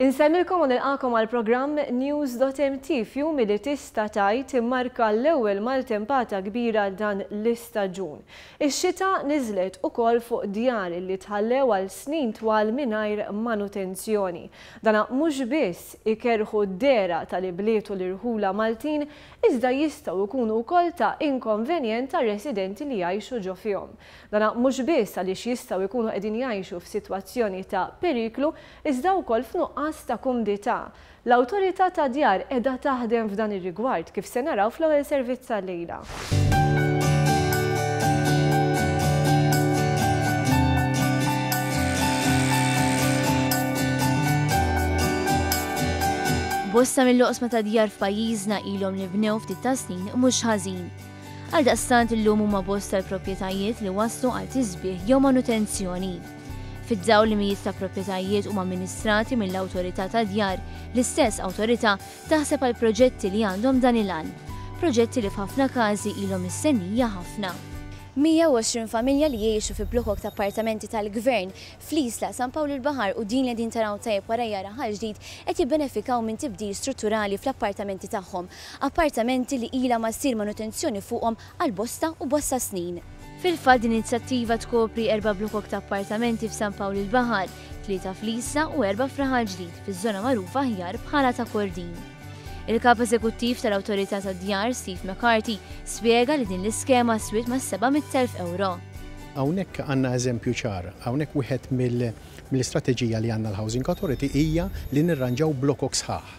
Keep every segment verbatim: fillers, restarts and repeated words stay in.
Insellmilkom u nilqagħkom għal programm News dot M T f'jum li tista' tgħid immarka l-ewwel maltempata kbira dan l-istaġun. Ix-xita niżlet ukoll fuq djar li tħallew għal snin twal mingħajr manutenzjoni. Dana mhux biss ikerrħu d-dehra tal-ibliet u l-irħula Maltin, iżda jistgħu jkunu wkoll ta' inkonvenjent għar-residenti li jgħixu ġo fihom. Dana mhux biss għaliex jistgħu jkunu qegħdin jgħixu f'sitwazzjoni ta' periklu, iżda wkoll f'nuqqas ta' kumdità. L-Awtorità tad-Djar qiegħda taħdem f'dan ir-rigward, kif se naraw fl-ewwel servizz tal-lejla. Bosta mill-oqsma ta' djar f'pajjiżna ilhom li bnew ftit ta' snin mhux ħażin. Għaldaqstant illum huma bosta l-proprjetajiet li waslu għal tisbieħ jew manutenzjoni. Fid-dawl li mijiet ta' proprjetajiet huma amministrati mill-Awtorità tad-Djar, l-istess awtorità taħseb għal proġetti li għandhom dan il-għan. Proġetti li f'ħafna każi ilhom mistennija ħafna. mija u għoxrin familja li jgħixu fi blokok ta' appartamenti tal-gvern fl-Isla, San Pawl il-Baħar u din li din taraw tajjeb warajja, Raħal Ġdid, qed jibbenefikaw minn tibdil strutturali fl-appartamenti tagħhom. Appartamenti li ilha ma ssir manutenzjoni fuqhom għal bosta u bosta snin. Fil-fatt, din inizjattiva tkopri erba' blokok ta' appartamenti f'San Pawl il-Baħar, tlieta fl-Isla u erba' f'Raħal Ġdid, fiż-żona magħrufa aħjar bħala ta' Kordin. Il-kap eżekuttiv tal-Awtorità tad-Djar, Steve McCarthy, spjega li din l-iskema swiet ma' seba' mitt elf euro. Hawnhekk għandna eżempju ċar, hawnhekk wieħed mill-istrateġija li għandna l-Housing Authority hija li nirranġaw blokok sħaħ.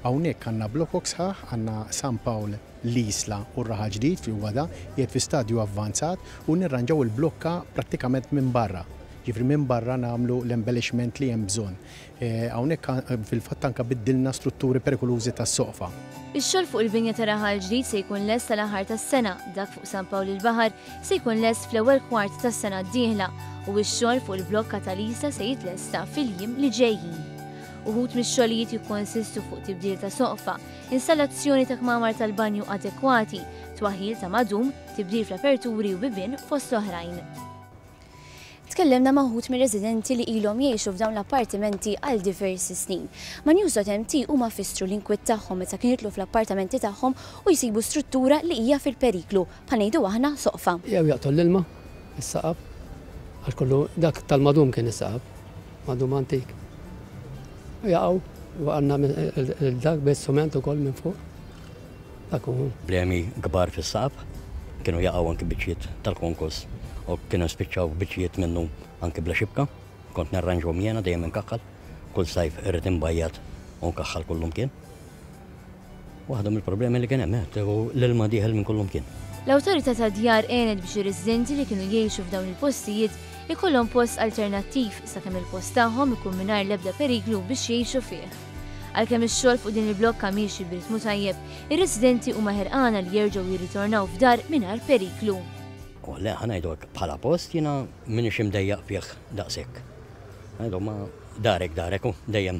Hawnhekk għandna blokok sħaħ, għandna San Pawl, l-Isla u r-Raħal Ġdid fi wada qiegħed fi stadju avvanzat u nirranġaw il-blokka prattikament minn barra. Ġifieri minn barra nagħmlu l-embellishment li hemm bżonn. Eh, hawnhekk fil-fatt anke biddilna strutturi perikolużi tas-soqfa. Ix-xogħol fuq il-binja ta' Raħal Ġdid se jkun lest tal-aħħar tas-sena, dak fuq San Pawl il-Baħar se jkun lest fl-ewwel kwart tas-sena d-dieħla u x-xogħol fuq il-blokka tal-Isla se jitlesta fil-jiem li ġejjin. Uħud mix-xogħlijiet jikkonsistu fuq tibdil ta' soqfa, installazzjoni ta' kmamar tal-banju adekwati, twaħil ta' madum, tibdil fl-aperturi u bibien, fost oħrajn. Tkellimna ma' wħud mir-residenti li ilhom jgħixu f'dawn l-appartimenti għal diversi snin. Ma' News dot M T huma fissru l-inkwiet tagħhom meta kienu jidħlu fl-appartamenti tagħhom u jsibu struttura li hija fil-periklu, bħal ngħidu aħna soqfa. Jew jaqtol l-ilma, is-saqaf, għax kollu dak tal-madum kien is-saqaf, madum antik. U jaqgħu, u għandna dak bis-sument ukoll minn fuq. Dak hu. Problemi kbar fis-saqaf, kienu jaqgħu anki biċċiet tal-konkos u kienu spiċċaw biċċiet minnu anki bla xibka. Kont narranġhom jiena, dejjem inkaħħal. Kull sajf irrid inbajjad u nkaħħal kullum kien. Waħda mill-problemi li kien hemm, eh, u l-ilma dieħel minn kullum kien. L-Awtorità tad-Djar għenet biex ir-residenti li kienu jgħixu f'dawn il-postijiet ikollhom post alternattiv sakemm il-post tagħhom ikun mingħajr l-ebda periklu biex jgħixu fih. Għalkemm ix-xogħol fuq din il-blokka miexi b'ritmu tajjeb, ir-residenti huma ħerqana li jerġgħu jirritornaw f'dar mingħajr periklu. U le, ħa ngħidu hekk, bħala post jiena m'iniex imdejjaq fih daqshekk. Ngħidu ma darek darek u dejjem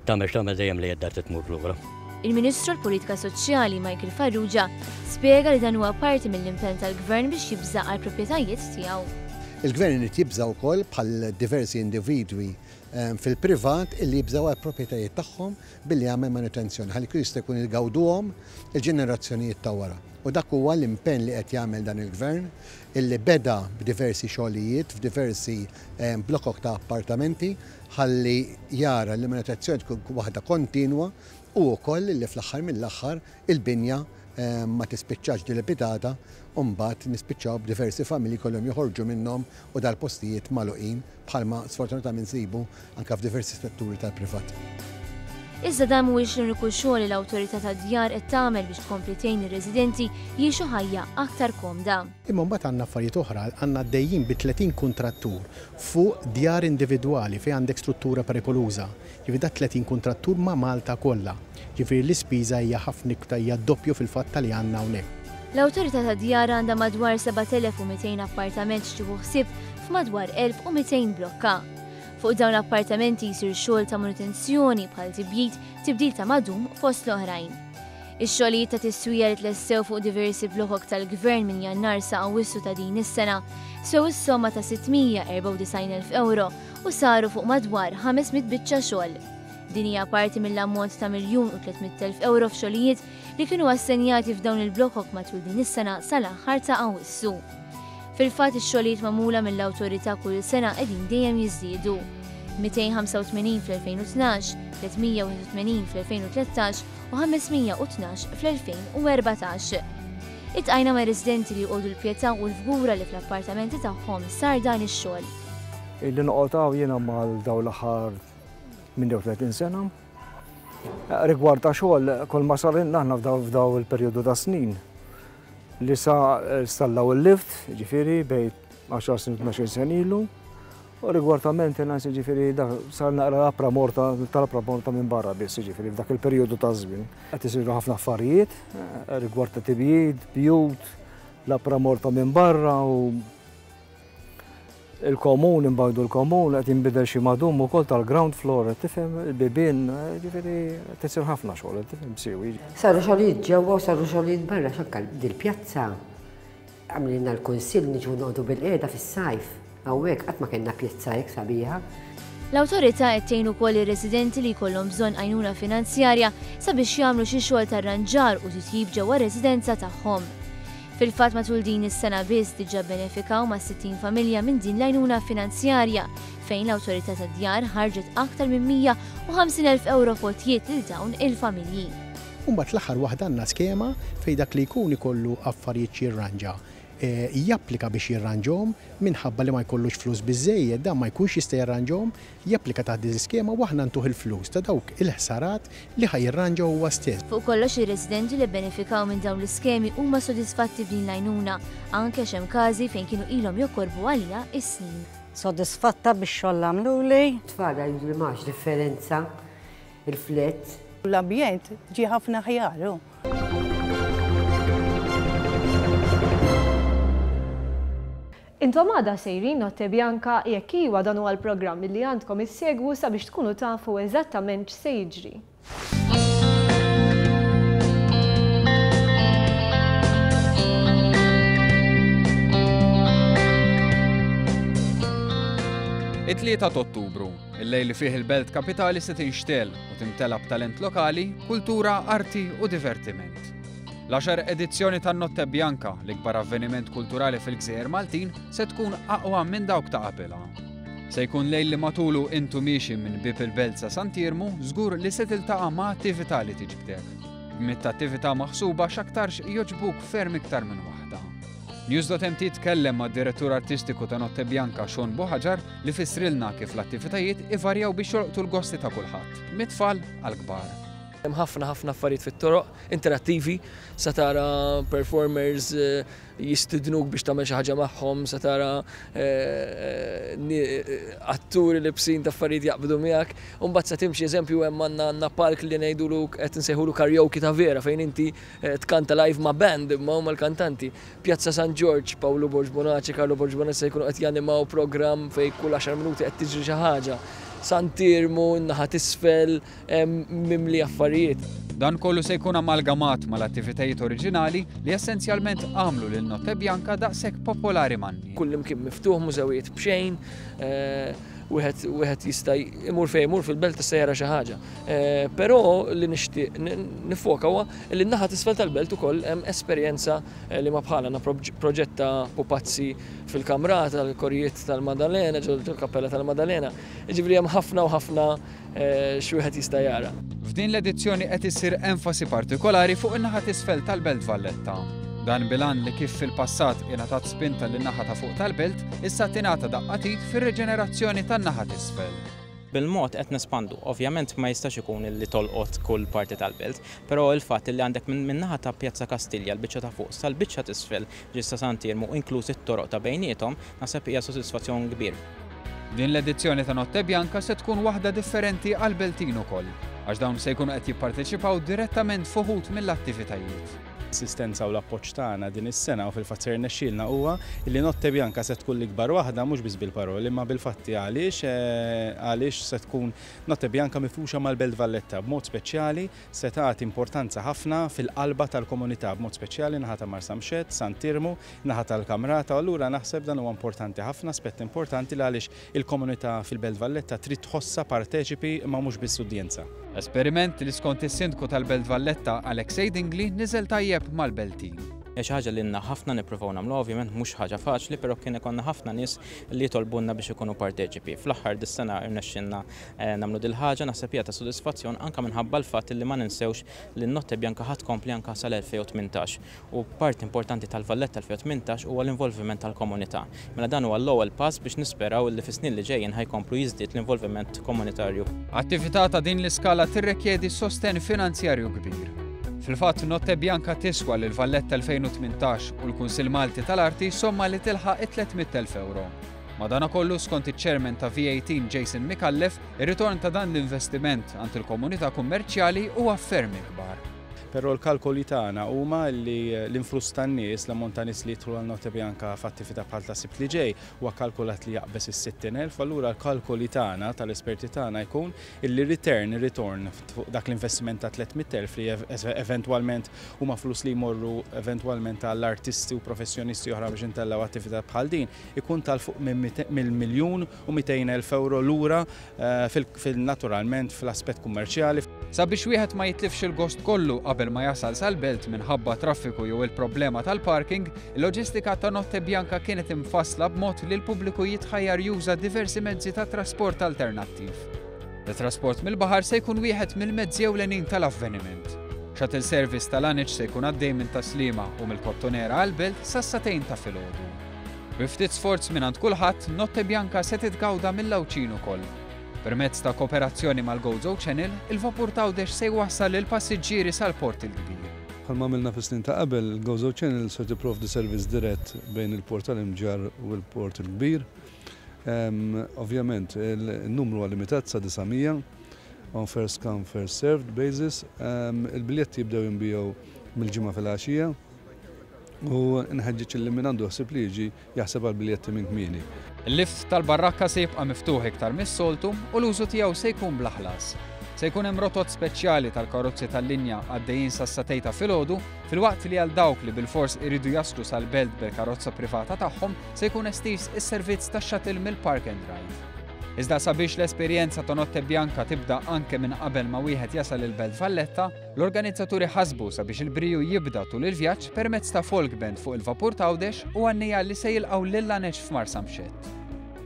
tagħmel x'tagħmel, dejjem li id-dar tmur lura. Il-Ministru l-Politika Soċjali Michael Farrugia spjega li dan huwa parti mill-impenn tal-Gvern biex jibża' għal proprjetajiet tiegħu. Il-Gvern irid jibża' wkoll bħal diversi individwi ehm, fil-privat illi jibżaw għal proprjetajiet tagħhom billi jagħmel manutenzjoni ħalli jista' jkun jgawduhom il-ġenerazzjonijiet ta' wara. U dak huwa l-impenn li qed jagħmel dan il-Gvern, illi beda b'diversi xogħlijiet f'diversi ehm, blokok ta' appartamenti ħalli jara li manutenzjoni tkun waħda kontinwa u wkoll li fl-aħħar mill-aħħar il-binja ehm, ma tispiċċax dilapidata u mbagħad nispiċċaw b'diversi familji kollhom joħorġu minnhom u dal-postijiet magħluqin, bħalma sfortunatament insibu anke f'diversi setturi tal-privat. Iżda dan mhuwiex l-uniku xogħol li l-Awtorità tad-Djar qed tagħmel biex tkompli tgħin ir-residenti jgħixu ħajja aktar komda. Imma mbagħad għandna affarijiet oħra, għandna għaddejjin bi tletin kuntrattur fuq djar individwali fejn għandek struttura perikoluża. Ġifieri da tletin kuntrattur ma' Malta kollha. Ġifieri l-ispiża hija ħafna iktar, hija doppju fil-fatt li għandna hawnhekk. L-Awtorità tad-Djar għandha madwar seba' telef u mitejn appartament x'tieħu ħsieb f'madwar elf u mitejn blokka. Fuq dawn l-appartamenti jsir xogħol ta' manutenzjoni bħal tibjid, tibdil ta' madum, fost l-oħrajn. Ix-xogħlijiet ta' tiswija li tlessew fuq diversi blokok tal-Gvern minn Jannar sa Awwissu ta' din is-sena sew is-somma ta' sitt mija erbgħa u disgħin elf euro u saru fuq madwar ħames mitt biċċa xogħol. Din hija parti mill-ammont ta' miljun u tliet mitt elf euro f'xogħlijiet li kienu assenjati f'dawn il-blokok matul din is-sena sal-aħħar ta' Awwissu. Fil-fatt ix-xogħlijiet magħmula mill-awtorità kull sena qegħdin dejjem jiżdiedu. mitejn ħamsa u tmenin fl-elfejn u tnax, tliet mija u wieħed u tmenin fl-elfejn u tlettax u ħames mija u tnax fl-elfejn u erbatax. Itqajna ma' residenti li jqogħdu l-Pietà u l-Fgura li fl-appartamenti tagħhom sar dan ix-xogħol. Illi noqgħod hawn jiena mal dawn l-aħħar tmienja u tletin sena. Rigward ta' xogħol, kull ma sar aħna f'daw il-perjodu ta' snin li sa installaw il-lift, ġifieri bejn għaxar snin u tnax-il sena ilu. U rigward ta' maintenance, ġifieri dak sar naqra l-apra morta, tal-apra morta minn barra biss, ġifieri f'dak il-perjodu ta' żmien. Qed isiru ħafna affarijiet rigward ta' tibjid, bjut, l-apra morta minn barra u il-komun, imbagħdu l-komun, qed jinbidel xi madum ukoll tal-ground floor, qed tifhem, il-bibien, ġifieri qed isir ħafna xogħol, qed tifhem siwi. Saru xogħlijiet ġewwa u saru xogħlijiet barra, x'anke dil-pjazza għamlilna l-kunsill niġu noqogħdu bil-qiegħda fis-sajf. Hawnhekk qatt ma kellna pjazza hekk sabiħa. L-awtorità qed tgħin ukoll ir-residenti li jkollhom bżonn għajnuna finanzjarja sabiex jagħmlu xi xogħol ta' rranġar u titjib ġewwa r-residenza tagħhom. Fil-fatt matul din is-sena biss diġà benefikaw ma' sittin familja minn din l-għajnuna finanzjarja fejn l-awtorità tad-djar ħarġet aktar minn mija u ħamsin elf euro f'għotjiet lil dawn il-familji. U mbagħad l-aħħar waħda għandna skema fejn dak li jkun ikollu affarijiet jirranġa. Eh, japplika biex jirranġhom minħabba li ma jkollux flus biżejjed, dan ma jkunx jista' jirranġhom, japplika taħt din l-iskema u aħna ntuh il-flus ta' dawk il-ħsarat li ħa jirranġaw huwa stess. Fuq kollox ir-residenti li bbenefikaw minn dawn l-iskemi huma sodisfatti b'din l-għajnuna, anke x'hemm każi fejn kienu ilhom jokkorbu għaliha is-snin. Sodisfatta bix-xogħol għamluli. Tfal jgħidu li m'hawnx differenza il-flett. L-ambjent ġie ħafna ħjar. Intom għada sejrin Notte Bianca jekk iwa dan huwa l-programm li għandkom issegwu sabiex tkunu tafu eżattament x'se jiġri. It-tlieta ta' Ottubru, il-lejl li fih il-belt kapitali se tinxtel u timtela b'talent lokali, kultura, arti u divertiment. L-għaxar edizzjoni tan-Notte Bianca, l-ikbar avveniment kulturali fil-Gżejjer Maltin, se tkun aqwa minn dawk ta' qabilha. Se jkun lejl li matulu intu miexi minn bib il-belt sa Sant'Iermu, żgur li se tiltaqa' ma' attività li tiġbdek. B'mitt attività maħsuba x'aktarx joġbuk ferm iktar minn waħda. News dot M T tkellem mad-direttur artistiku ta' Notte Bianca Sean Buhagiar li fissrilna kif l-attivitajiet ivarjaw biex jolqtu l-gosti ta' kulħadd, mit-tfal għall-kbar. Hemm ħafna ħafna affarijiet fit-toroq interattivi, sa tara performers, eh, jistidnuk biex tagħmel xi ħaġa magħhom, sa tara, eh, eh, atturi li bsin ta' affarijiet jaqbdu miegħek, u mbagħad sa timxi eżempju hemm għandna, għandna park li ngħidulu qed insejħulu karaoke ta' vera fejn inti, eh, tkanta live ma' band imma huma l-kantanti. Pjazza San Ġorġ, Pawlu Borg Bonaci, Carlo Borg Bonaci se jkunu qed janimaw programm fejn kull għaxar minuti qed tiġri xi ħaġa. Sant'Iermu, naħa t'isfel, hemm mimli affarijiet. Dan kollu se jkun amalgamat mal-attivitajiet oriġinali li essenzjalment għamlu lil Notte Bianca daqshekk popolari man-nies. Kull imkien miftuħ, mużewijiet b'xejn, eh, wieħed, wieħed jista' imur fejn imur fil-belt tista' jara xi ħaġa. Eh, però li nixtieq n-, nifoka huwa li n-naħa t'isfel tal-belt ukoll hemm esperjenza, eh, li ma bħala għandna proġ-, proġett ta' pupazzi fil-kamrata, tal-korijiet tal-Madalena, ġol kappella tal-Madalena. Jiġifieri hemm ħafna u ħafna, eh, xi wieħed jista' jara. F'din l-edizzjoni qed issir enfasi partikolari fuq in-naħa t'isfel tal-Belt Valletta. Dan bilan li kif fil-passat ingħatat spinta lin-naħa ta' fuq tal-belt, issa tingħata daqqa t'id fir-reġenerazzjoni tan-naħa t'isfel. Bil-mod qed nespandu, ovvjament ma jistax ikun li tolqot kull parti tal-belt, però il-fatt li għandek minn, minn naħa ta' Pjazza Kastilja l-biċċa ta' fuq sal-biċċa t'isfel ġista Sant'Iermu inkluż it-toroq ta' bejniethom, naħseb hija sodisfazzjon kbir. Din l-edizzjoni ta' Notte Bianca se tkun waħda differenti għal-Beltin ukoll, għax dawn se jkunu qed jipparteċipaw direttament f'uħud mill-attivitajiet. Assistenza u l-appoġġ tagħna din is-sena u fil-fatt ser nexxielna huwa li Notte Bianca se tkun l-ikbar waħda mhux biss bil-paroli imma bil-fatti għaliex għaliex se tkun Notte Bianca mifruxa mal-Belt Valletta b'mod speċjali se tagħti importanza ħafna fil-qalba tal-komunità b'mod speċjali naħa ta' Marsamxett, Sant'Iermu, naħa tal-Kamrata, u allura naħseb dan huwa importanti ħafna, aspett importanti li għaliex il-komunità fil-Belt Valletta trid tħossha parteċipi imma mhux biss udjenza. Esperiment li skont is-Sindku tal-Belt Valletta Alexei Dingli niżel tajjeb mal-Beltin. Hija xi ħaġa li lna ħafna nippruvaw nagħmlu, ovvjament mhux ħaġa faċli, però kien ikollna ħafna nies li jitolbunna biex ikunu parteċipi. Fl-aħħar dis-sena rnexxinna nagħmlu dil-ħaġa, naħseb hija ta' sodisfazzjon anke minħabba l-fatt li ma ninsewx li n-Notte Bianca ħadd tkompli anke sal-elfejn u tmintax. U parti importanti tal-Valletta elfejn u tmintax huwa l-involviment tal-komunità. Mela dan huwa l-ewwel pass biex nisperaw li fis-snin li ġejjin ħajkomplu jiżdied l-involviment komunitarju. Attività ta' din l-iskala tirrikjedi sosten finanzjarju kbir. Fil-fatt Notte Bianca tiswa lil Valletta elfejn u tmintax u l-Kunsill Malti tal-Arti somma li tilħaq it-tliet mitt elf euro. Madanakollu skont iċ-chairman ta' V eighteen Jason Micallef, ir-ritorn ta' dan l-investiment għand il-komunità kummerċjali huwa ferm ikbar. Però l-kalkoli tagħna huma li l-influss tan-nies, l-ammont ta' nies li jidħlu għal Notte Bianca f'attività bħal ta' Sibt li ġej huwa kalkulat li jaqbeż is-sittin elf, allura l-kalkoli tagħna tal-esperti tagħna jkun illi return, ritorn fuq dak l-investiment ta' tliet mitt elf li eventwalment huma flus li jmorru eventwalment għall-artisti u professjonisti oħra biex intellaw attività bħal din, ikun tal fuq minn miljun u mitejn elf euro lura, eh, fil-naturalment fl-aspett kummerċjali. Sabiex wieħed ma jitlifx il-gost kollu qabel ma jasal sal-belt minħabba traffiku jew il-problema tal-parking, il-loġistika ta' Notte Bianca kienet imfassla b'mod li l-pubbliku jitħajjar juża diversi mezzi ta' trasport alternattiv. Il-trasport mill-baħar se jkun wieħed mill-mezzi ewlenin tal-avveniment. Shuttle service tal-Aniċ se jkun għaddej minn Taslima u mill-Kottonera għall-belt sas-sagħtejn ta' filgħodu. Bi ftit sforz mingħand kulħadd, Notte Bianca se titgawda mill-Għawdxin ukoll. Permezz ta' kooperazzjoni mal-Gozo Channel, il-vapur t'Għawdex se jwassal lill-passiġġieri sal-Port il-Kbir. Bħalma għamilna fis-snin ta' qabel, il-Gozo Channel se tipprovdi servizz dirett bejn il-Port tal-Imġarr u l-Port il-Kbir. Ehm, ovvjament, il-numru huwa limitat sa disa' mija on first come first served basis. Ehm, il-biljetti jibdew jinbiegħu mill-ġimgħa fil-għaxija u nħeġġeġ li min għandu ħsieb li jiġi jaħseb għal biljetti minn kmieni. Il-lift tal-barrakka se jibqa' miftuħ iktar mis-soltu u l-użu tiegħu se jkun bla ħlas. Se jkun hemm rotot speċjali tal-karozzi tal-linja għaddejjin sas-sagħtejn ta' filgħodu, filwaqt li għal dawk li bilfors iridu jaslu sal-belt bil-karozza privata tagħhom se jkun estiż is-servizz tax-shuttle mill-Park and Ride. Iżda sabiex l-esperjenza ta' Notte Bianca tibda anke minn qabel ma wieħed jasal il-Belt Valletta, l-organizzaturi ħasbu sabiex il-briju jibda tul il-vjaġġ permezz ta' folk band fuq il-vapur t'Għawdex u għannija li se jilqgħu lil Laneċ f'Marsamxett.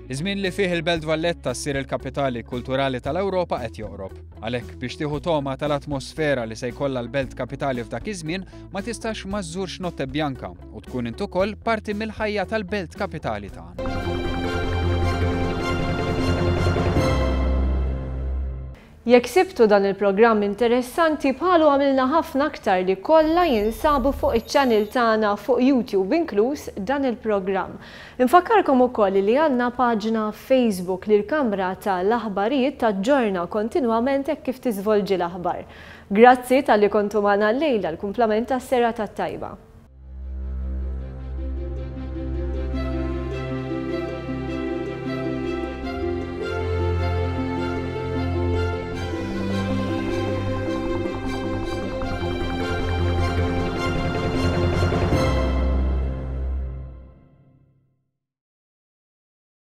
Iż-żmien li fih il-Belt Valletta ssir il-kapitali kulturali tal-Ewropa qed joqrob. Għalhekk biex tieħu toma tal-atmosfera li se jkollha l-Belt Kapitali f'dak iż-żmien, ma tistax ma żżurx Notte Bianca u tkun int ukoll parti mill-ħajja tal-Belt Kapitali tagħna. Jekk sibtu dan il-programm interessanti, bħalu għamilna ħafna aktar li kollha jinsabu fuq iċ-channel tagħna fuq YouTube, inkluż dan il-programm. Infakkarkom ukoll li għandna paġna Facebook li l-Kamra tal-Aħbarijiet taġġorna kontinwament hekk kif tiżvolġi l-aħbar. Grazzi talli kontu magħna llejla, l-kumplament tas-serata t-tajba.